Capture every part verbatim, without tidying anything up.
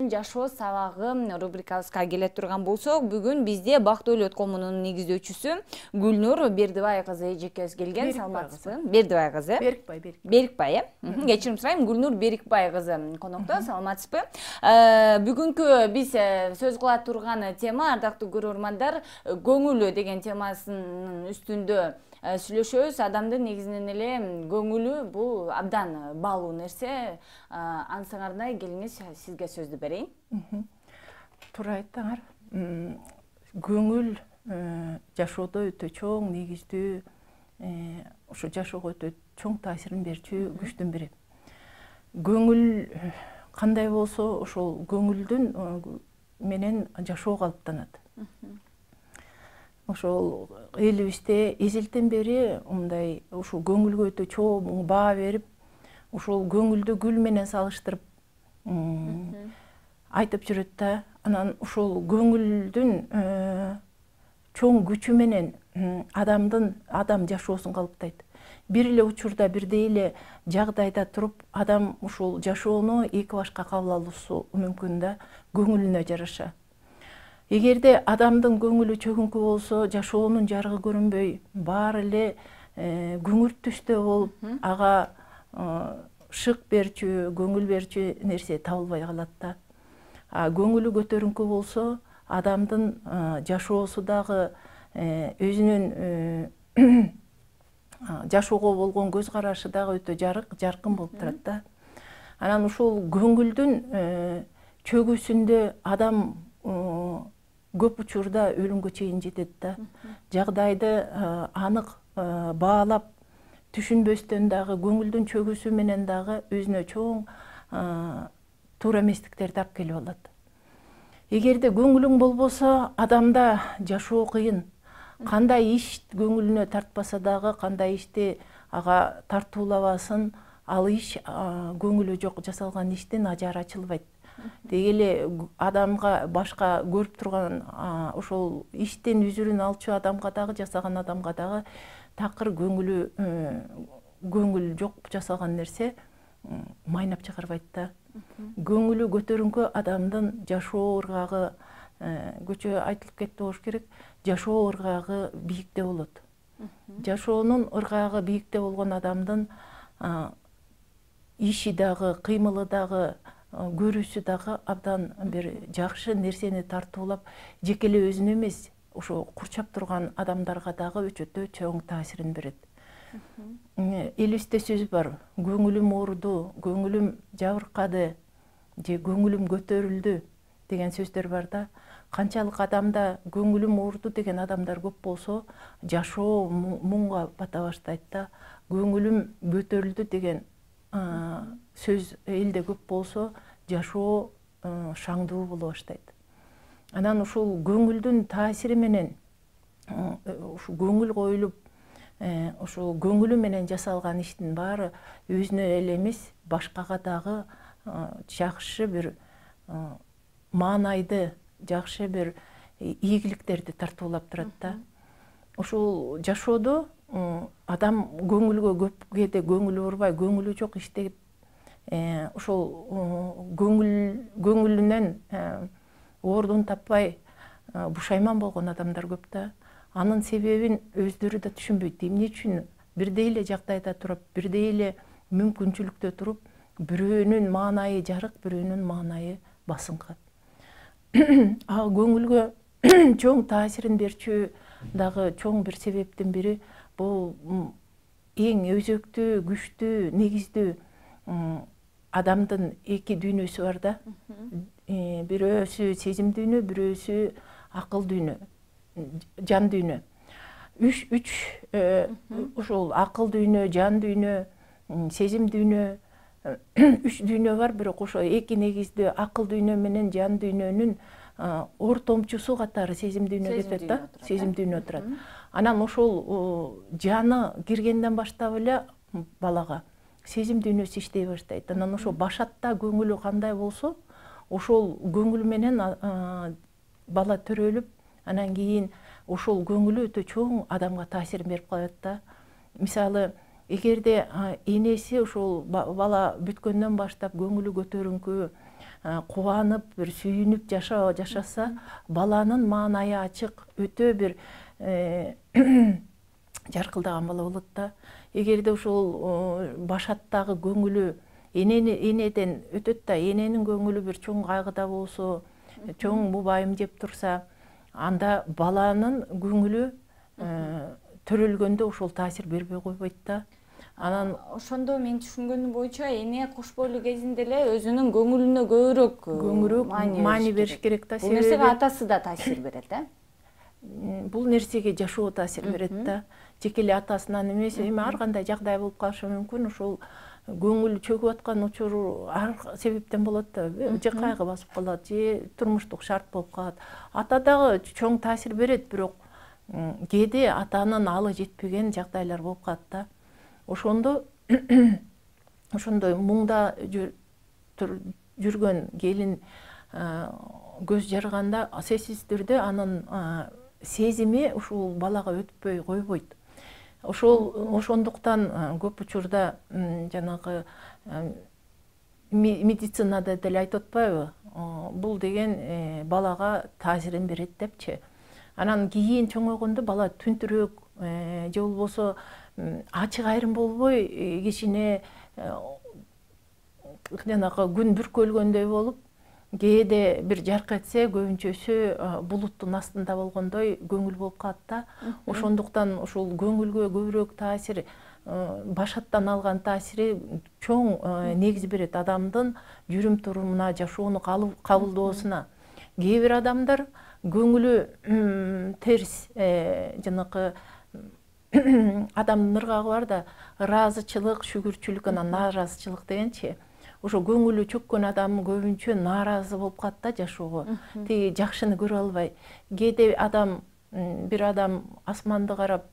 Жашоо сабагы рубрикабызга келе турган болсок, бүгүн бизде Бактылуу өлөт коомунун негиздөөчүсү Гүлнур Бердибай кызы эжекебиз келген. Саламатсызбы? Бердибай кызы. Берикбай, Берикбай. Берикбай, э? Кечирим сурайм, Гүлнур Берикбай кызы конокто. Саламатсызбы? Бүгүнкү биз сөз кыла турган тема, ардактуу көрөрмандар, көңүл деген темасынын үстүндө сүйлөшөбүз. Адамдын негизинен эле көңүлү бул абдан баалуу нерсе. Ансыңардай келиңиз, сизге сөздү берейин. Туура айттыңар. Көңүл жашоодо өтө чоң негиздүү, ушу жашоого өтө чоң таасирин берчү күчтүн бири. Көңүл кандай болсо, ошол көңүлдүн менен жашоо калыптанат. Ошол элибизде эзелтен бери мындай ушул көңүлгө өтө чоң баа берип, ушул көңүлдү гүл менен салыштырып айтып жүрөт да. Анан ушул көңүлдүн чоң күчү менен адамдын адам жашоосун калыптайт. Бир эле учурда, бирдей эле жагдайда туруп, адам ушул жашоону эки башка кабыл алуусу мүмкүн да, көңүлүнө жараша. Эгерде адамдын көңүлү чөгүңкү болсо, жашоонун жарыгы көрүнбөй, баары эле күңүрт түстө болуп, ага шык берчү, көңүл берчү нерсе табылбай калат да. А көңүлү көтөрүңкү болсо, адамдын жашоосу дагы өзүнүн жашоого болгон көз карашы дагы өтө жарык, жаркын болуп турат да. Анан ушул көңүлдүн чөгүүсүндө адам көп учурда өлүмгө чейин жетет да. Жагдайды анык баалап түшүнбөстөн дагы, көңүлдүн чөгүүсү менен дагы өзүнө чоң туура эместиктерди алып келип алат. Эгерде көңүлүң болбосо, адамда жашоо кыйын. Кандай иш көңүлүнө тартпаса дагы, кандай ишти ага тартуулабасын, ал иш көңүлү жок жасалган иштин ажары ачылбайт. Деги эле адамга, башка көрүп турган ошол иштин үзүрүн алчу адамга дагы, жасаган адамга дагы такыр көңүлү көңүл жок жасалган нерсе майнап чыгарбайт да. Көңүлү көтөрүңкү адамдын жашоо ыргагы, көчө айтылып кетти болуш керек, жашоо ыргагы бийикте болот. Жашоонун ыргагы бийикте болгон адамдын иши дагы, кыймылы дагы, көрүүсү дагы абдан бир жакшы нерсени тартуулап, жеке эле өзүнө эмес, ошо курчап турган адамдарга дагы өтө чоң таасирин берет. Элибизде сөз бар: көңүлүм ооруду, көңүлүм жабыркады же көңүлүм көтөрүлдү деген сөздөр бар да. Канчалык адамда көңүлүм ооруду деген адамдар көп болсо, жашоо муңга бата баштайт да. Көңүлүм көтөрүлдү деген сөз элде көп болсо, жашоо шаңдуу боло баштайт. Анан ушул көңүлдүн таасири менен, ушу көңүл коюлуп, ошол көңүлү менен жасалган иштин баары өзүнө эле эмес, башкага дагы жакшы бир маанайды, жакшы бир ийгиликтерди тартуулап турат да. Ушул жашоодо адам көңүлгө көп кээде көңүлү бурбай, көңүлү жок иштеп, ошол көңүлүнөн ордун таппай бушайман болгон адамдар көп да. Анын себебин өздөрү да түшүнбөйт. Эмне үчүн бирдей эле жагдайда туруп, бирдей эле мүмкүнчүлүктө туруп, бирөөнүн маанайы жарык, бирөөнүн маанайы басыңкы. А көңүлгө чоң таасирин берчү дагы чоң бир себептин бири бул эң өзөктүү, күчтүү, негиздүү адамдын эки дүйнөсү бар да. Бирөөсү сезим дүйнө, бирөөсү акыл дүйнө, жан дүйнө. Үч үч ошол акыл дүйнө, жан дүйнө, сезим дүйнө, үч дүйнө бар, бирок ошо эки негиздүү акыл дүйнө менен жан дүйнөнүн ортомчусу катары сезим дүйнө кетет да. Сезим дүйнө турат. Анан ошол жаны киргенден баштап эле балага сезим дүйнөсү иштей баштайт. Анан ошо башатта көңүлү кандай болсо, ошол көңүл менен бала төрөлүп, анан кийин ошол көңүлү өтө чоң адамга таасирин берип коет да. Мисалы, эгерде энеси ошол бала бүткөндөн баштап көңүлү көтөрүңкү, кубанып, бир сүйүнүп жашоо жашаса, баланын маанайы ачык, өтө бир жаркылдаган бала болот да. Эгерде ушул башаттагы көңүлү энеден өтөт да, эненин көңүлү бир чоң кайгыда болсо, чоң мубайым жеп турса, анда баланын көңүлү төрөлгөндө ошол таасир бербей койбойт да. Анан ошондо мен түшүнгөнүм боюнча эне кош бойлуу кезинде эле өзүнүн көңүлүнө көбүрөөк көбүрөөк маани бериш керек да. Бул нерсеге атасы да таасир берет, э? Бул нерсеге жашоо таасир берет да. Жеке эле атасынан эмес, эми ар кандай жагдай болуп калышы мүмкүн. Ушул көңүл чөгүп аткан учур ар себептен болот да. Же кайгы басып калат, же турмуштук шарт болуп калат. Ата дагы чоң таасир берет, бирок кээде атанын алы жетпеген жагдайлар болуп калат да. Ошондо ошондой муңда жүргөн келин көз жарганда сесиз түрдө анын сезими ушул балага өтпөй койбойт. Ошол ошондуктан көп учурда жанагы медицинада деле айтып атпайбы? Бул деген балага таасирин берет депчи. Анан кийин чоңойгондо бала түнтүрөөк же болбосо ачык айрым болбой кичине жанагы күн бүркөлгөндөй болуп, кээде бир жарк этсе, көбүнчөсү булуттун астында болгондой көңүл болуп калат да. Ошондуктан ушул көңүлгө көбүрөөк таасир, башаттан алган таасири чоң негиз берет адамдын жүрүм турумуна, жашоону кабылдоосуна. Кээ бир адамдар көңүлү терс, жанакы адамдын ыргагы бар да, ыраазычылык, шүгүрчүлүк, анан нааразычылык дегенчи. Ошо көңүлү чөккөн адам көбүнчө нааразы болуп калат да жашоого. Тиги жакшыны көрө албай. Кээде адам, бир адам асманды карап,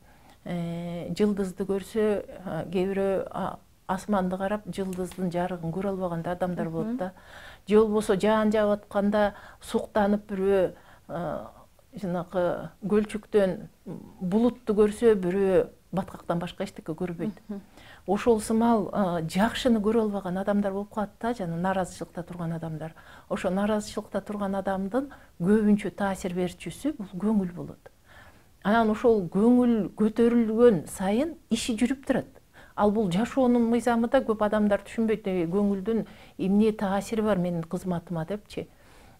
жылдызды көрсө, кээ бирөө асманды карап, жылдыздын жарыгын көрө албаган адамдар болот да. Же болбосо жаан жаап атканда суктанып бирөө жанагы көлчүктөн булутту көрсө, бирөө баткактан башка эчтеке көрбөйт. Ошол сымал жакшыны көрө албаган адамдар болуп калат да, жана нааразычылыкта турган адамдар. Ошо нааразычылыкта турган адамдын көбүнчө таасир берүүчүсү бул көңүл болот. Анан ошол көңүл көтөрүлгөн сайын иши жүрүп турат. Ал бул жашоонун мыйзамында көп адамдар түшүнбөйт, көңүлдүн эмне таасири бар менин кызматыма депчи.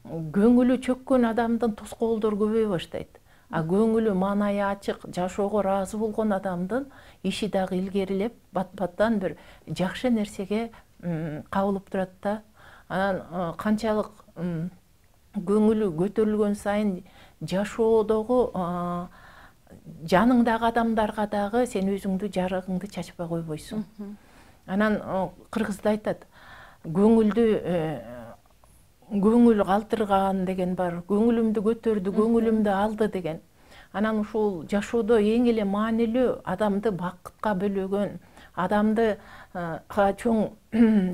Көңүлү чөккөн адамдын тоскоолдору көбөйө баштайт. А көңүлү маанайы ачык, жашоого ыраазы болгон адамдын иши дагы илгерилеп, бат-баттан бир жакшы нерсеге кабылып турат да. Анан канчалык көңүлү көтөрүлгөн сайын жашоодогу жаныңдагы адамдарга дагы сен өзүңдү жарыгыңды чачпай койбойсуң. Анан кыргызда айтат, көңүлдү көңүл калтырган деген бар, көңүлүмдү көтөрдү, көңүлүмдү алды деген. Анан ушул жашоодо эң эле маанилүү адамды бакытка бөлөгөн, адамды чоң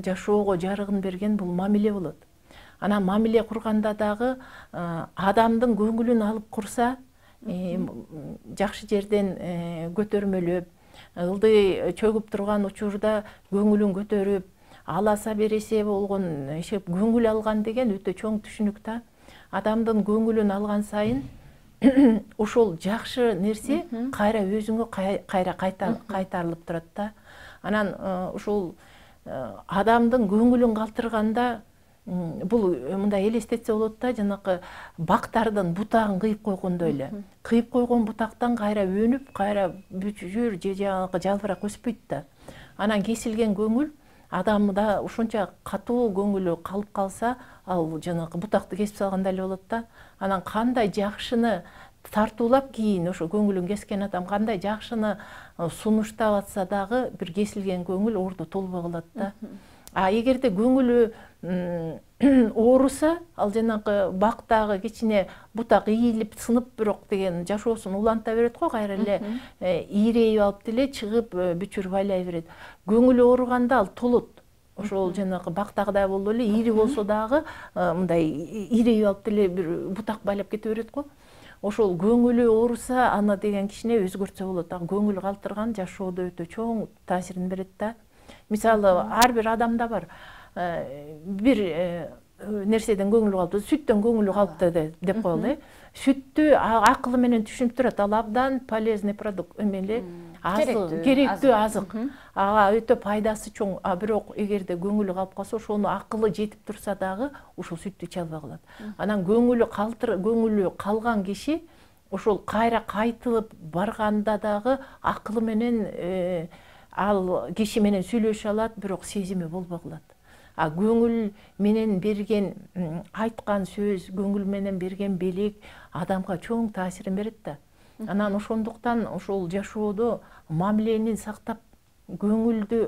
жашоого жарыгын берген бул мамиле болот. Анан мамиле курганда дагы адамдын көңүлүн алып курса, жакшы жерден көтөрмөлөп, ылдый чөгүп турган учурда көңүлүн көтөрүп, аласа бересе болгон көңүл алган деген өтө чоң түшүнүк да. Адамдын көңүлүн алган сайын ошол жакшы нерсе кайра өзүңө кайра кайтарылып турат да. Анан ушул адамдын көңүлүн калтырганда бул мындай элестетсе болот да, жанакы бактардын бутагын кыйып койгондой эле. Кыйып койгон бутактан кайра өнүп, кайра бүчүр же жанагы жалбырак өспөйт да. Анан кесилген көңүл адамда ушунча катуу көңүлү калып калса, ал жанагы бутакты кесип салгандай эле болот да. Анан кандай жакшыны тартуулап кийин ошо көңүлүн кескен адам кандай жакшыны сунуштап атса дагы бир кесилген көңүл орду толбой калат да. А эгерде көңүлү ооруса, ал жанагы бактагы кичине бутак ийилип, сынып бирок деген жашоосун уланта берет го, кайра эле ийрейип алып деле чыгып бүчүр байлай берет. Көңүлү ооруганда ал толот. Ошол жанагы бактагыдай болду эле, ийри болсо дагы мындай ийрейип алып деле бир бутак байлап кете берет го. Ошол көңүлү ооруса, аны деген кичине өзгөртсө болот. А көңүл калтырган жашоодо өтө чоң таасирин берет да. Мисалы, ар бир адамда бар. Бир нерседен көңүлү калыптыр, сүттөн көңүлү калыптыр деп коелу э. Сүттү акылы менен түшүнүп турат, ал абдан полезный продукт эмеле, азык, керектүү азык. Ага өтө пайдасы чоң. А бирок эгерде көңүлү калып калса, ошону акылы жетип турса дагы ушул сүттү иче албай калат. Анан көңүлү калтыр, көңүлү калган киши ошол кайра кайтылып барганда дагы акылы менен ал киши менен сүйлөшө алат, бирок сезими болбой калат. А көңүл менен берген айткан сөз, көңүл менен берген белек адамга чоң таасирин берет да. Анан ошондуктан ошол жашоодо мамилени сактап, көңүлдү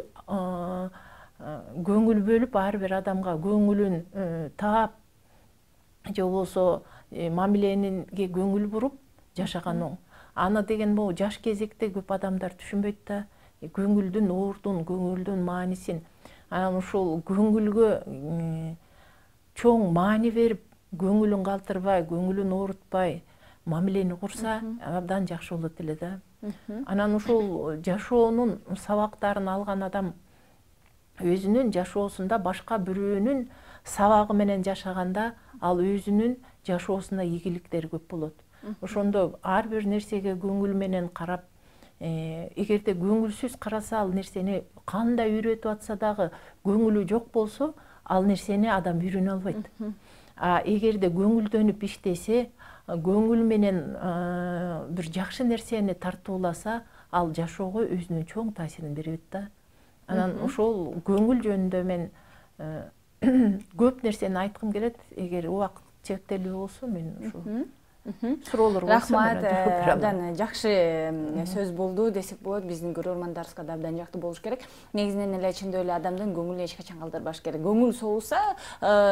көңүл бөлүп, ар бир адамга көңүлүн таап, же болбосо мамиленге көңүл буруп жашаган оң. Аны деген могу жаш кезекте көп адамдар түшүнбөйт да, көңүлдүн ордун, көңүлдүн маанисин. Анан ушул көңүлгө чоң маани берип, көңүлүн калтырбай, көңүлүн оорутпай мамилени курса, абдан жакшы болот эле да. Анан ушул жашоонун сабактарын алган адам өзүнүн жашоосунда башка бирөөнүн сабагы менен жашаганда, ал өзүнүн жашоосунда ийгиликтери көп болот. Ошондо ар бир нерсеге көңүл менен карап, эгерде көңүлсүз караса, ал нерсени кандай үйрөтүп атса дагы көңүлү жок болсо, ал нерсени адам үйрөнө албайт. А эгерде көңүлдөнүп иштесе, көңүл менен бир жакшы нерсени тартууласа, ал жашоого өзүнүн чоң таасирин берет да. Анан ошол көңүл жөнүндө мен көп нерсени айткым келет. Эгер убакыт чектелүү болсо, мен ушул суроолор болсо, рахмат, абдан жакшы сөз болду десек болот. Биздин көрөрмандарыбызга да абдан жакты болуш керек. Негизинен эле чындап эле адамдын көңүлүн эч качан калтырбаш керек. Көңүл соолса,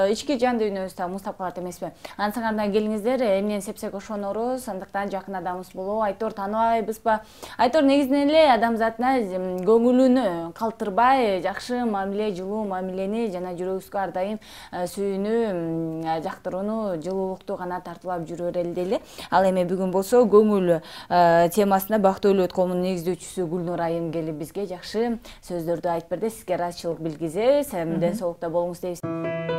ички жан дүйнөбүз да муздап калат эмеспи? Ансаңардан келиңиздер, эмнени сепсек ошонорубуз, андыктан жакын адамыбыз болобу, Айтор тааныбайбызбы? Айтор негизинен эле адамзатына көңүлүнү калтырбай, жакшы мамиле, жылуу мамилени жана жүрөгүбүзгө ар дайым сүйүүнү, жактырууну, жылуулукту гана тартуулап жүрөр эле. Ал эми бүгүн болсо көңүл темасына Бактылуу өлөт коомунун негиздөөчүсү Гүлнур айым келип бизге жакшы сөздөрдү айтып берди. Сизге ыраазычылык билгизебиз, ден соолукта болуңуз дейбиз.